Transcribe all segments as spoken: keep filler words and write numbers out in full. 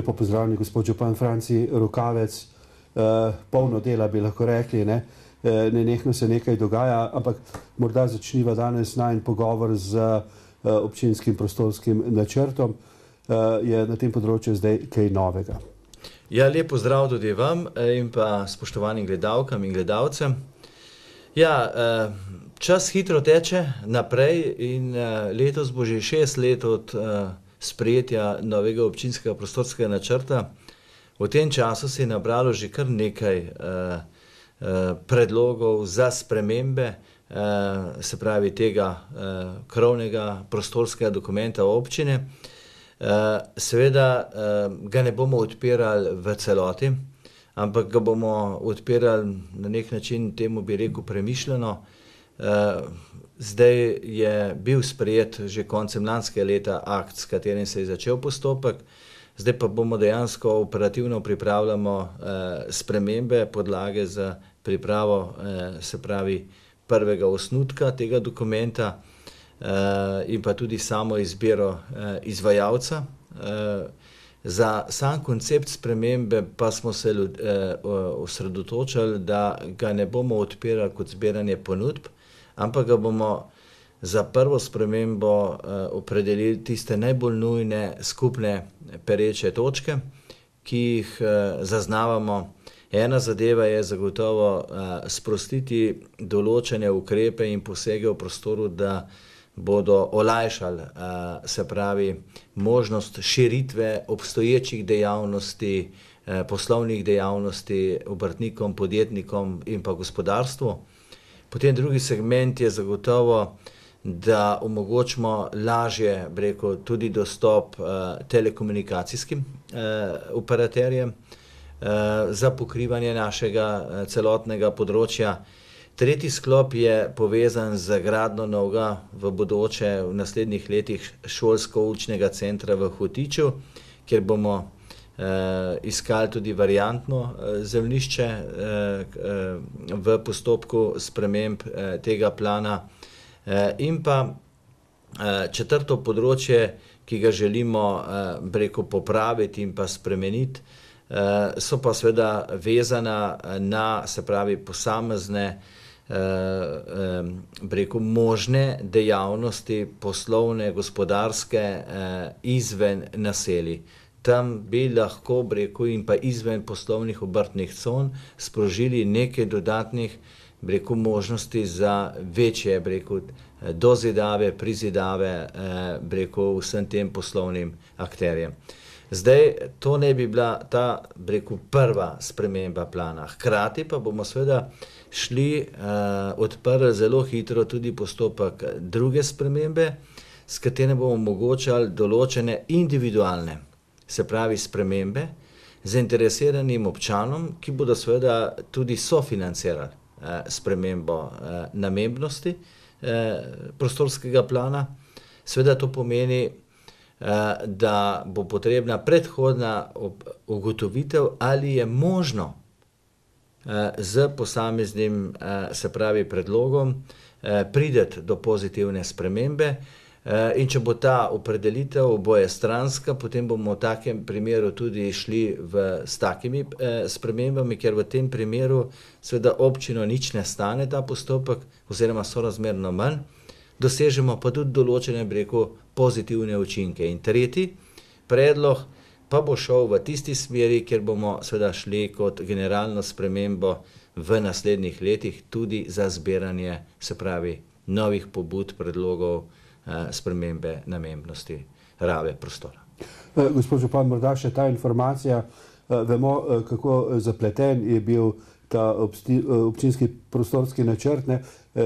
Lepo pozdravljeni, gospod župan Franci Rokavec. Polno dela bi lahko rekli, ne? Nenehno se nekaj dogaja, ampak morda začniva danes najin pogovor z občinskim prostorskim načrtom. Je na tem področju zdaj kaj novega? Ja, lep pozdrav tudi vam in pa spoštovanim gledalkam in gledalcem. Ja, čas hitro teče naprej in letos bo že šest let od sprejetja novega občinskega prostorskega načrta. V tem času se je nabralo že kar nekaj predlogov za spremembe, se pravi tega krovnega prostorskega dokumenta občine. Seveda ga ne bomo odpirali v celoti, ampak ga bomo odpirali na nek način, temu bi rekel, premišljeno. Zdaj je bil sprejet že koncem lanskega leta akt, s katerim se je začel postopek, zdaj pa bomo dejansko operativno pripravljamo spremembe, podlage za pripravo, se pravi, prvega osnutka tega dokumenta in pa tudi samo izbiro izvajalca. Za sam koncept spremembe pa smo se osredotočili, da ga ne bomo odpirali kot zbiranje ponudb, ampak ga bomo za prvo spremembo opredelili tiste najbolj nujne skupne pereče točke, ki jih zaznavamo. Ena zadeva je zagotovo sprostiti določene ukrepe in posege v prostoru, da bodo olajšali, se pravi, možnost širitve obstoječih dejavnosti, poslovnih dejavnosti obrtnikom, podjetnikom in pa gospodarstvu. Potem drugi segment je zagotovo, da omogočimo lažje, bi rekel, tudi dostop telekomunikacijskim operaterjem za pokrivanje našega celotnega področja. Tretji sklop je povezan z gradnjo novega v bodoče v naslednjih letih šolsko-učnega centra v Hotiču, kjer bomo iskali tudi variantno zemljišče v postopku sprememb tega plana. In pa četrto področje, ki ga želimo, bi rekel, popraviti in pa spremeniti, so pa seveda vezana na, se pravi, posamezne, bi rekel, možne dejavnosti poslovne, gospodarske izven naselij. Tam bi lahko, bi rekel, in pa izven poslovnih obrtnih con sprožili nekaj dodatnih, bi rekel, možnosti za večje, bi rekel, dozidave, prizidave, bi rekel, vsem tem poslovnim akterjem. Zdaj, to ne bi bila ta, bi rekel, prva sprememba plana. Hkrati pa bomo seveda šli, odprli zelo hitro tudi postopek druge spremembe, s katerim bomo omogočali določene individualne, se pravi spremembe, zainteresiranim občanom, ki bodo seveda tudi sofinancirali spremembo namembnosti prostorskega plana. Seveda to pomeni, da bo potrebna predhodna ugotovitev, ali je možno z posameznim, se pravi, predlogom priti do pozitivne spremembe. In če bo ta opredelitev obojestranska, potem bomo v takem primeru tudi šli v, s takimi spremembami, ker v tem primeru seveda občino nič ne stane ta postopek oziroma sorazmerno manj. Dosežemo pa tudi določene, bi rekel, pozitivne učinke. In tretji predlog pa bo šel v tisti smeri, kjer bomo seveda šli kot generalno spremembo v naslednjih letih tudi za zbiranje, se pravi, novih pobud, predlogov, spremembe namembnosti rabe prostora. Gospod župan, morda še ta informacija, vemo, kako zapleten je bil ta občinski prostorski načrt, ne,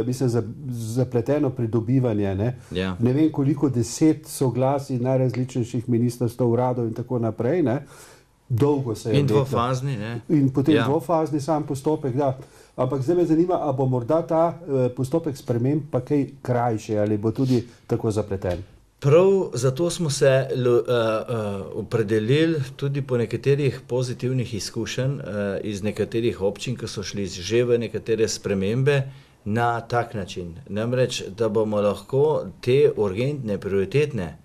mislim, zapleteno pridobivanje, ne, ja. Ne vem, koliko deset soglasij najrazličnejših ministrstev, uradov in tako naprej, ne, dolgo se je in dvofazni, ne. In potem ja. dvofazni sam postopek, da. Ampak zdaj me zanima, a bo morda ta postopek sprememb pa kaj krajši, ali bo tudi tako zapleten? Prav zato smo se uh, uh, opredelili tudi po nekaterih pozitivnih izkušenj uh, iz nekaterih občin, ki so šli že v nekatere spremembe na tak način. Namreč, da bomo lahko te urgentne, prioritetne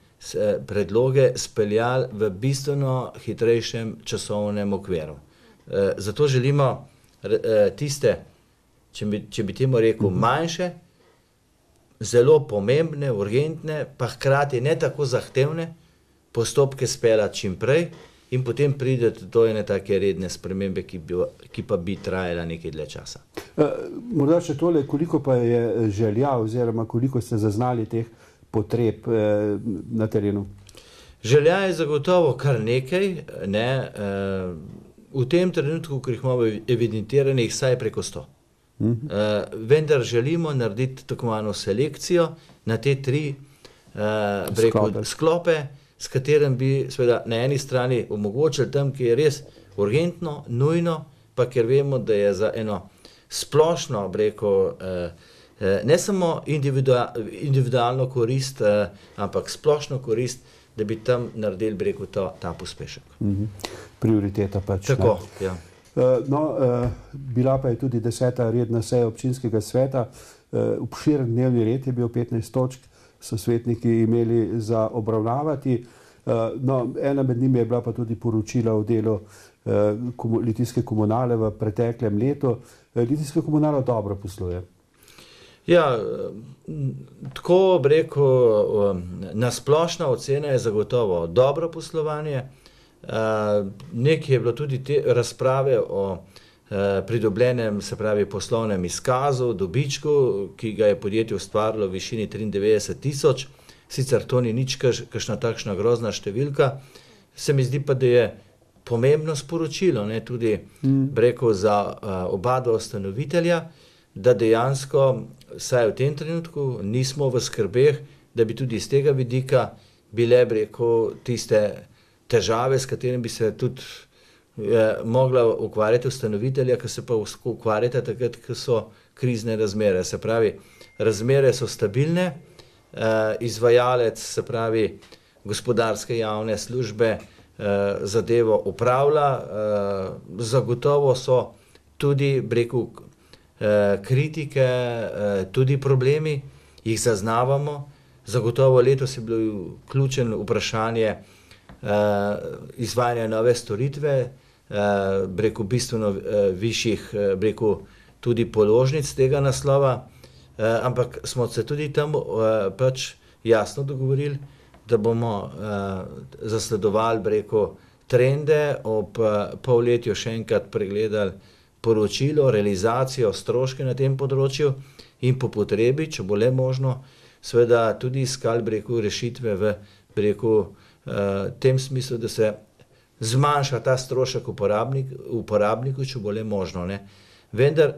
predloge speljali v bistveno hitrejšem časovnem okviru. Zato želimo tiste, če bi, če bi temu rekel, manjše, zelo pomembne, urgentne, pa hkrati ne tako zahtevne postopke speljati čim prej in potem prideti do ene take redne spremembe, ki, bi, ki pa bi trajala nekaj dlje časa. Morda še tole, koliko pa je želja oziroma koliko ste zaznali teh potreb na terenu? Želja je zagotovo kar nekaj, ne, v tem trenutku, ko jih imamo evidentiranih, vsaj preko sto. Uh, vendar želimo narediti tako malo selekcijo na te tri uh, breko, sklope. sklope, s katerim bi seveda na eni strani omogočili tam, ki je res urgentno, nujno, pa ker vemo, da je za eno splošno breko, uh, uh, ne samo individua, individualno korist, uh, ampak splošno korist, da bi tam naredili breko to, ta pospešek. Uh-huh. Prioriteta pač. Tako, ne? Ja. No, bila pa je tudi deseta redna seja občinskega sveta, obširen dnevni red je bil, petnajst točk so svetniki imeli za obravnavati. No, ena med njimi je bila pa tudi poročila o delu Litijske komunale v preteklem letu. Litijska komunala dobro posluje. Ja, tako bi rekel, nasplošna ocena je zagotovo dobro poslovanje. Uh, nekaj je bilo tudi te razprave o uh, pridobljenem, se pravi, poslovnem izkazu, dobičku, ki ga je podjetje ustvarilo v višini triindevetdeset tisoč. Sicer to ni nič kakšna takšna grozna številka. Se mi zdi pa, da je pomembno sporočilo, ne, tudi mm. rekel za uh, oba dva ustanovitelja, da dejansko, vsaj v tem trenutku, nismo v skrbeh, da bi tudi iz tega vidika bile, rekel, tiste težave, s katerimi bi se tudi eh, mogla ukvarjati ustanovitelja, ki se pa ukvarjata takrat, ko so krizne razmere. Se pravi, razmere so stabilne, eh, izvajalec, se pravi, gospodarske javne službe eh, zadevo upravlja, eh, zagotovo so tudi, breku, eh, kritike, eh, tudi problemi, jih zaznavamo. Zagotovo letos je bilo ključen vprašanje Uh, izvajanja nove storitve, uh, breku bistveno uh, višjih, uh, breku tudi položnic tega naslova, uh, ampak smo se tudi tam uh, pač jasno dogovorili, da bomo uh, zasledovali breku trende, ob uh, polletju še enkrat pregledali poročilo, realizacijo, stroške na tem področju in po potrebi, če bo le možno, seveda tudi iskali breku rešitve v breku Uh, tem smislu, da se zmanjša ta strošek uporabnik, uporabniku, če bo le možno. Ne. Vendar,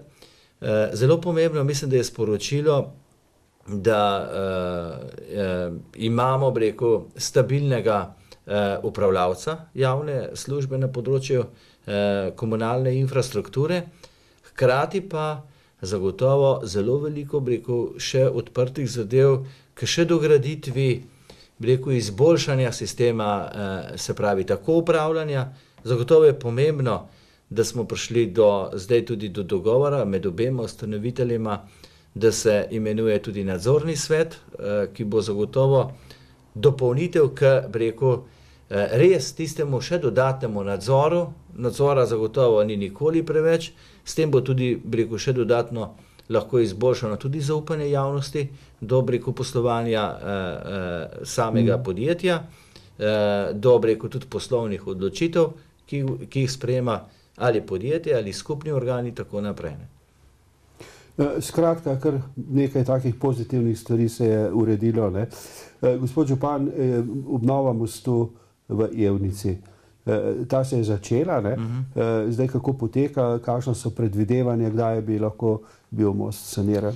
uh, zelo pomembno, mislim, da je sporočilo, da uh, uh, imamo, rekel, stabilnega uh, upravljavca javne službe na področju uh, komunalne infrastrukture, hkrati pa zagotovo zelo veliko, rekel, še odprtih zadev, ki še dograditvi, rekel, izboljšanja sistema, eh, se pravi, tako upravljanja. Zagotovo je pomembno, da smo prišli do, zdaj tudi do dogovora med obema ustanoviteljima, da se imenuje tudi nadzorni svet, eh, ki bo zagotovo dopolnitev k, rekel, eh, res tistemu še dodatnemu nadzoru. Nadzora zagotovo ni nikoli preveč, s tem bo tudi, rekel, še dodatno lahko izboljšano tudi zaupanje javnosti do breku poslovanja eh, eh, samega mm. podjetja, eh, do breku tudi poslovnih odločitev, ki, ki jih sprejema ali podjetje ali skupni organi, tako naprej. Skratka, kar nekaj takih pozitivnih stvari se je uredilo. Ne? Gospod župan, obnova mostu v Evnici. Ta se je začela, ne? Uh-huh. Zdaj kako poteka, kakšno so predvidevanja, kdaj bi lahko bil most saniran?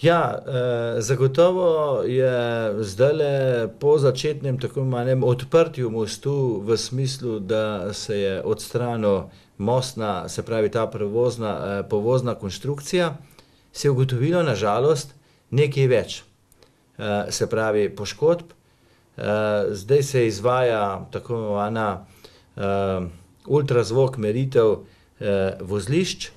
Ja, eh, zagotovo je zdajle po začetnem tako imenovanem odprtju mostu v smislu, da se je odstranil mostna, se pravi ta prevozna, eh, povozna konstrukcija, se je ugotovilo na žalost nekaj več, eh, se pravi poškodb. Eh, zdaj se izvaja tako imenovana Uh, ultrazvok meritev uh, vozlišč,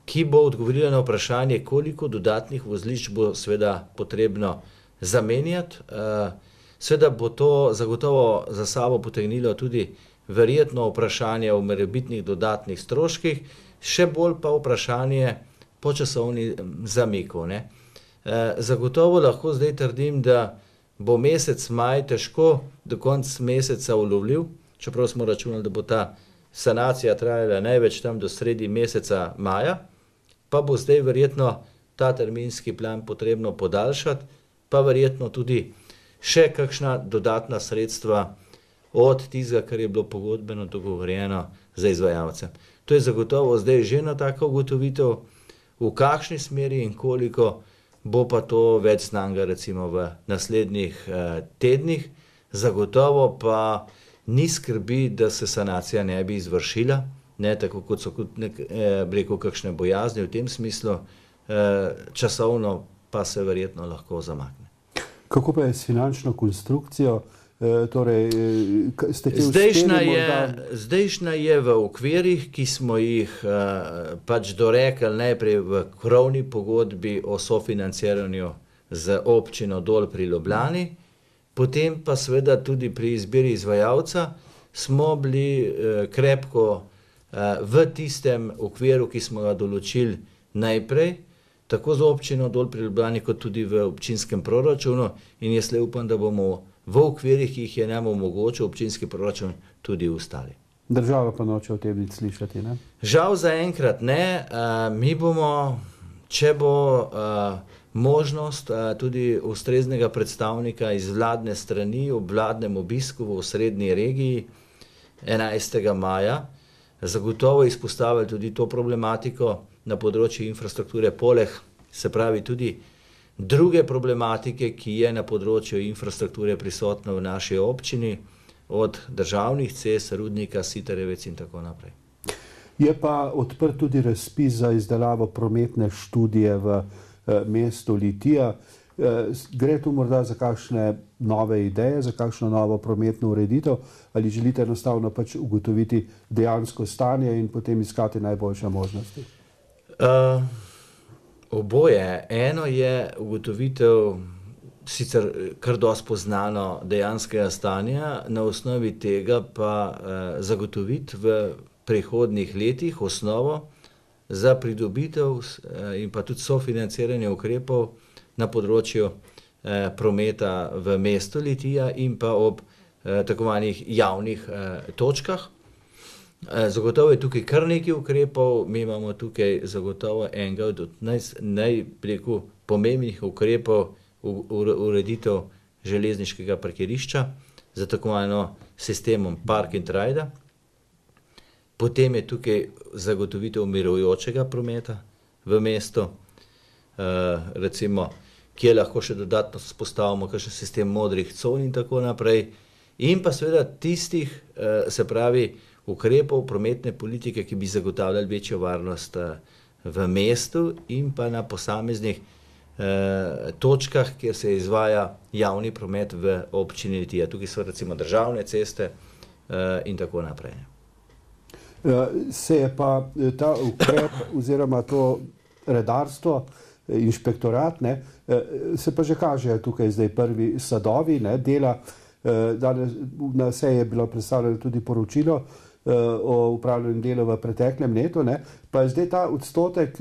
ki bo odgovorila na vprašanje, koliko dodatnih vozlišč bo seveda potrebno zamenjati. Uh, Seveda bo to zagotovo za sabo potegnilo tudi verjetno vprašanje o morebitnih dodatnih stroških, še bolj pa vprašanje po časovni zamiku, ne. E, zagotovo lahko zdaj trdim, da bo mesec maj težko do konca meseca ulovljiv, čeprav smo računali, da bo ta sanacija trajala največ tam do sredi meseca maja, pa bo zdaj verjetno ta terminski plan potrebno podaljšati, pa verjetno tudi še kakšna dodatna sredstva od tistega, kar je bilo pogodbeno dogovorjeno za izvajalce. To je zagotovo zdaj že ena taka ugotovitev, v kakšni smeri in koliko bo pa to več znanega recimo v naslednjih eh, tednih. Zagotovo pa ni skrbi, da se sanacija ne bi izvršila, ne, tako kot so nek, eh, rekel, kakšne bojazni v tem smislu, eh, časovno pa se verjetno lahko zamakne. Kako pa je s finančno konstrukcijo? E, torej, ste te zdajšnja, uspeli je, morda... zdajšnja je v okvirih, ki smo jih eh, pač dorekli najprej v krovni pogodbi o sofinanciranju z občino Dol pri Ljubljani, potem pa seveda tudi pri izbiri izvajalca smo bili eh, krepko eh, v tistem okviru, ki smo ga določili najprej, tako za občino Dol pri Ljubljani, kot tudi v občinskem proračunu, in jaz le upam, da bomo v okvirih, ki jih je nam omogočil občinski proračun, tudi ustali. Država pa noče o tem nič slišati, ne? Žal zaenkrat ne. Uh, mi bomo, če bo uh, možnost uh, tudi ustreznega predstavnika iz vladne strani ob vladnem obisku v osrednji regiji enajstega maja, zagotovo izpostavili tudi to problematiko na področju infrastrukture, poleg, se pravi tudi druge problematike, ki je na področju infrastrukture prisotna v naši občini, od državnih cest, rudnika, Sitarjevec in tako naprej. Je pa odprt tudi razpis za izdelavo prometne študije v eh, mestu Litija. Eh, gre tu morda za kakšne nove ideje, za kakšno novo prometno ureditev, ali želite enostavno pač ugotoviti dejansko stanje in potem iskati najboljše možnosti? Uh, Oboje. Eno je ugotovitev sicer kar dosti poznano dejanskega stanja, na osnovi tega pa eh, zagotoviti v prihodnjih letih osnovo za pridobitev eh, in pa tudi sofinanciranje ukrepov na področju eh, prometa v mestu Litija in pa ob eh, tako imenovanih javnih eh, točkah. Zagotovo je tukaj kar nekaj ukrepov, mi imamo tukaj zagotovo enega od najpomembnejših ukrepov ureditev železniškega parkirišča za tako imenovano sistemom park and ride. Potem je tukaj zagotovitev mirujočega prometa v mestu, recimo, kjer lahko še dodatno vzpostavimo kakšen sistem modrih con in tako naprej. In pa seveda tistih, se pravi, ukrepov prometne politike, ki bi zagotavljali večjo varnost v mestu in pa na posameznih eh, točkah, kjer se izvaja javni promet v občini Litija. Tukaj so recimo državne ceste eh, in tako naprej. Se je pa ta ukrep oziroma to redarstvo, inšpektorat, ne, se pa že kaže tukaj zdaj prvi sadovi, ne, dela. Danes na seji je bilo predstavljeno tudi poročilo o upravljanju dela v preteklem letu, ne, pa je zdaj ta odstotek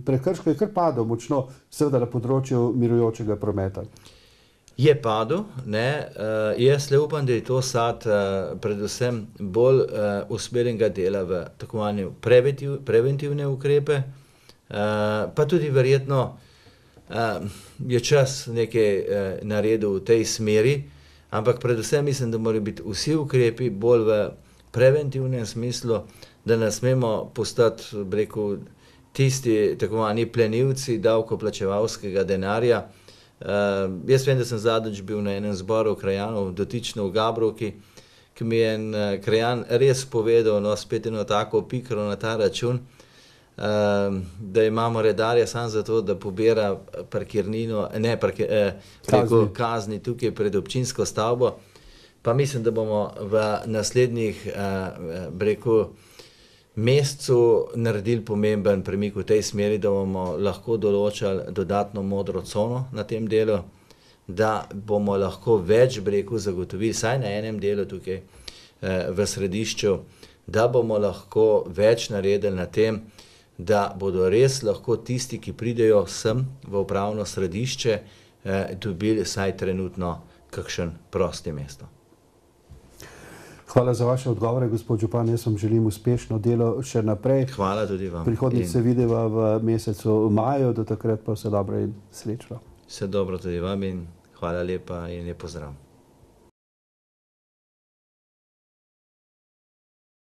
prekrškov je kar padel močno, seveda na področju mirujočega prometa. Je padel, ne, jaz le upam, da je to sad predvsem bolj usmerjenega dela v tako imenovane preventiv, preventivne ukrepe, pa tudi verjetno je čas nekaj naredil v tej smeri, ampak predvsem mislim, da morajo biti vsi ukrepi bolj v preventivnem smislu, da ne smemo postati, rekel, tisti tako imenovani plenilci davkoplačevalskega denarja. Uh, jaz vem, da sem zadnjič bil na enem zboru krajanov, dotično v Gabrovki, ki mi je en uh, krajan res povedal, no, spet eno tako pikro na ta račun, uh, da imamo redarja samo zato, da pobira parkirnino, ne, parkir, eh, rekel, kazni tukaj pred občinsko stavbo. Pa mislim, da bomo v naslednjih eh, rekel, mesecu naredili pomemben premik v tej smeri, da bomo lahko določali dodatno modro cono na tem delu. da bomo lahko več breku zagotovili, saj na enem delu tukaj eh, v središču, da bomo lahko več naredili na tem, da bodo res lahko tisti, ki pridejo sem v upravno središče, eh, dobili saj trenutno kakšen prosti mesto. Hvala za vaše odgovore, gospod župan. Jaz vam želim uspešno delo še naprej. Hvala tudi vam. Prihodnjič se videva v mesecu maju, do takrat pa vse dobro in srečno. Vse dobro tudi vam in hvala lepa in lep pozdrav.